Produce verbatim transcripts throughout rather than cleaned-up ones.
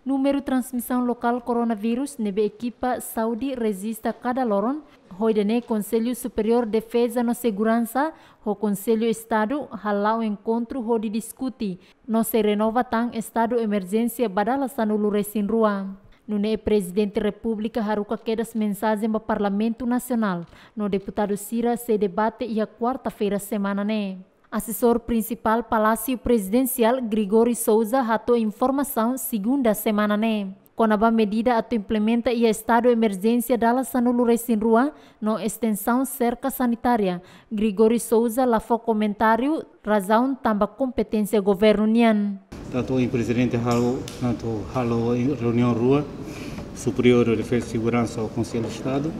Númeru transmisaun lokál koronavírus ne'ebé ekipa saúde rejista kada loron, ho ida-ne'e Konsellu Superiór Defeza no Seguransa ho Konsellu Estadu hala'o enkontru hodi diskute no sei renova tan estadu emerjénsia ba dala sanulu-resin-rua. Nune'e Prezidente Repúblika haruka kedas mensajen ba Parlamentu Nasionál, no deputadu sira sei debate iha kuarta-feira semana ne'e. Asesór Prinsipál Palásiu Prezidensiál Gregório Sousa hato'o informasaun segunda semana ne'e. Kona-ba medida atu implementa iha estadu emerjénsia dala sanulu-resin-rua no estensaun serka sanitária, Gregório Sousa la fó komentáriu, razaun tanba kompeténsia governu nian. Tantu ohin Prezidente halo, tantu halo reuniaun rua, Superiór Defeza Seguransa ho Konsellu Estadu,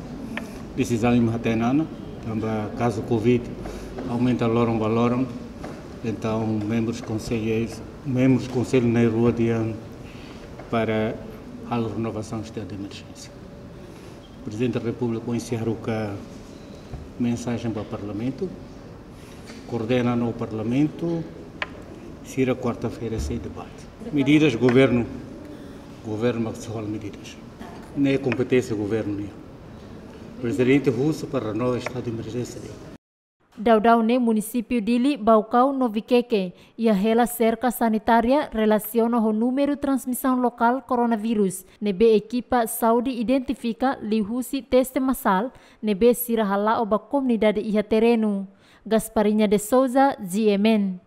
desizaun imi hatene ona, tanba kazu Covid aumenta loron ba loron, entaun membrus konsellu, membrus konsellu na'in-rua dehan para halo renovasaun estadu de emerjénsia. Prezidente Repúblika ohin sei haruka mensajen ba Parlamentu, koordena no Parlamentu, sira kuarta-feira sei debate. Medidas governu, governu mak sei halo medidas. Ne'e kompeténsia governu nian. Prezidente husu para renova estadu de emerjénsia de'it. Daudaun ne'e munisípiu Dili, Baucau no Viqueque iha hela serka sanitária relasiona ho númeru transmisaun lokál koronavírus ne'ebé ekipa saúde identifika liuhusi teste masál ne'ebé sira hala'o ba komunidade iha terrenu. Gasparinha de Sousa, G M N.